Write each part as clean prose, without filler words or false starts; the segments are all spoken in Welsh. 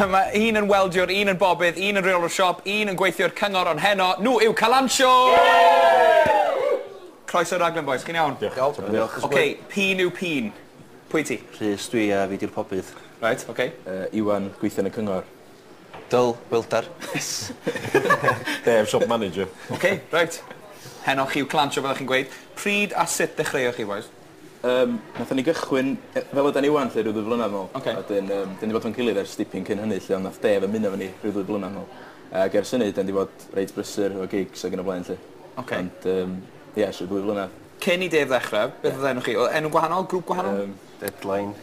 Mae un yn weldiwr, un yn bobydd, un yn rheolwr siop, un yn gweithio'r cyngor, ond heno, nhw yw Calansio! Croeso i'r raglen, bois, chi'n iawn? Diolch. Diolch. Oce, p'un yw p'un? Pwy ti? Rhys dwi a fi 'di'r pobydd. Reit, oce. Iwan, gweithio yn y cyngor. Dyl, welder. Yes! Dave, shop manager. Oce, reit. Heno chi yw Clansio, fel o'ch chi'n gweud. Pryd a sut ddechreuoch chi, bois? Nathon ni gychwyn fel ydan ni ŵan 'lly ryw ddwy flynedd nôl. Oce. A 'dyn 'dyn ni 'di bod 'fo'n gilydd ers dipyn cyn hynny 'lly ond nath Dave ymuno efo ni rhyw ddwy blynedd nôl. Ag ers hynny 'dyn 'di bod reit brysur efo gigs ag yn y blaen 'lly. Oce. Ond yym ie ers ryw ddwy flynedd. Cyn i Dave ddechrau, beth oedd enw chi? Oedd enw gwahanol? Grŵp gwahanol? Deadline.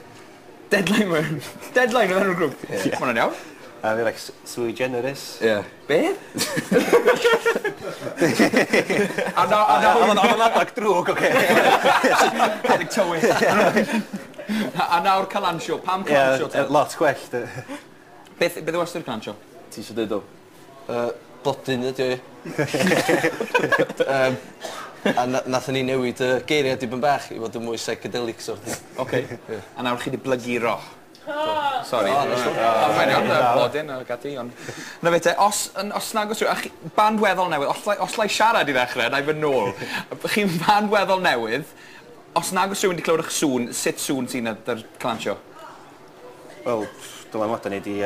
Deadline were- Deadline oedd enw'r grŵp? Ie. Ma' hwnna'n iawn. A fi like sui generis. Ie. Be? A na- a nawr... O'dd o'n adag drwg oce? Adeg tywyll. A nawr Calansio. Pam Calansio te? Ie, lot gwell 'de. Beth beth yw ystyr Calansio? Ti isio deud o? Blodyn ydi o ie. Yym a nathon ni newid y geiria dipyn bach i fod yn mwy psychedelic sort of. Oce. Ie. A nawr chi 'di blaguro. Sori. O, na stwff. Mae'n iawn, blodyn ag ati, ond... Na fe te, os, yn, os nag oes rhyw... A chi, band weddol newydd, os lai, os lai siarad i ddechrau, na i fynd nôl. Chi'n band weddol newydd, os nag oes rhywun wedi clywed eich sŵn, sut sŵn sy'n ar Clansio? Wel, dylanwadau ni 'di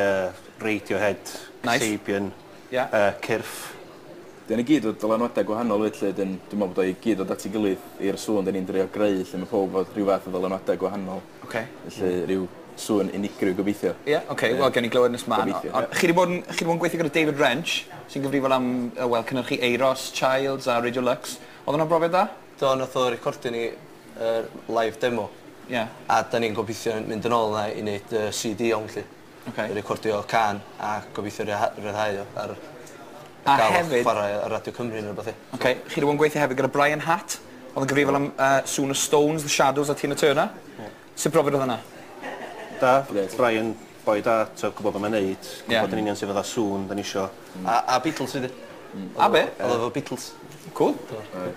Radiohead, Nice. Sabian, Ie. Cyrff. Dyn ni gyd o dylanwadau gwahanol 'fyd 'lly, 'dyn dwi'n meddwl bod o i gyd dod at ei gilydd i'r sŵn 'dyn ni'n drio greu lle mae pawb fod rhyw fath o ddylanwadau gwahanol. Oce. Felly rhyw sŵn unigryw gobeithio. Ie, oce, wel gewn ni glywed nes mlaen. Gobeithio. Ond chi 'di bod yn, chi 'di bod yn gweithio gyda David Wrench, sy'n gyfrifol am, wel, cynhyrchu Euros, Childs a Radio Lux. Oedd hwnna'n brofiad dda? Do, nath o recordio ni yr live demo. Ie. A da ni'n gobeithio mynd yn ôl yna i wneud CD iawn 'lly. Oce. I recordio cân a gobeithio ryddhau o ar A gael hefyd... chwarae ar Radio Cymru neu rwbath ie. Oce, chi 'di bod yn gweithio hefyd gyda Brian Hatt, oedd yn gyfrifol am sŵn y Stones, The Shadows a Tina Turner. Ie. Sut brofiad oedd hwnna? Da, Grêt. Brian, boi da, t'o' gwbod be' mae'n neud, Ie. gwbod yn union sut fath o sŵn 'dan ni isio. A Beatles 'fyd ie. A be? Oedd o efo Beatles. Cool.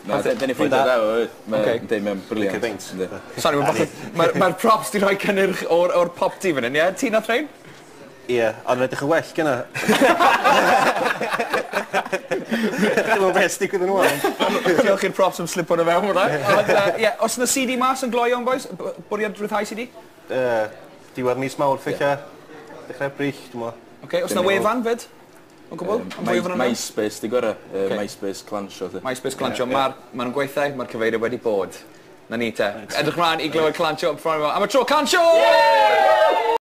Na, dyn ni ffrindiau da efo 'fyd. Oce. Yndi, mae'n brilliant. Licio beint. Yndi. Sori, mae bach o... Mae'r ma props 'di rhoi cynnyrch o'r popty fan hyn, ie? Ti nath rhein? Ie, ond yn edrych yn well gynna. Dwi'm yn beth sy'n digwydd yn ôl. Diolch i'r props am slipo nhw fewn hwnna. Ond, ie, os yna CD mas yn gloi iawn, boys? Bwriad rhyddhau CD? Diwedd mis Mawrth ella. Dechrau Ebrill, dwi'n meddwl. Oce, os yna wefan fyd? O gwbl? Am fwy o fanylion? MySpace di gorau. Ocê. MySpace Clansio. 'lly. MySpace Clansio. Mae'r ma nhw'n gweithio, mae'r cyfeiriad wedi bod. Na ni te. Edrych mlaen i glywed Clansio am y tro. Clansio!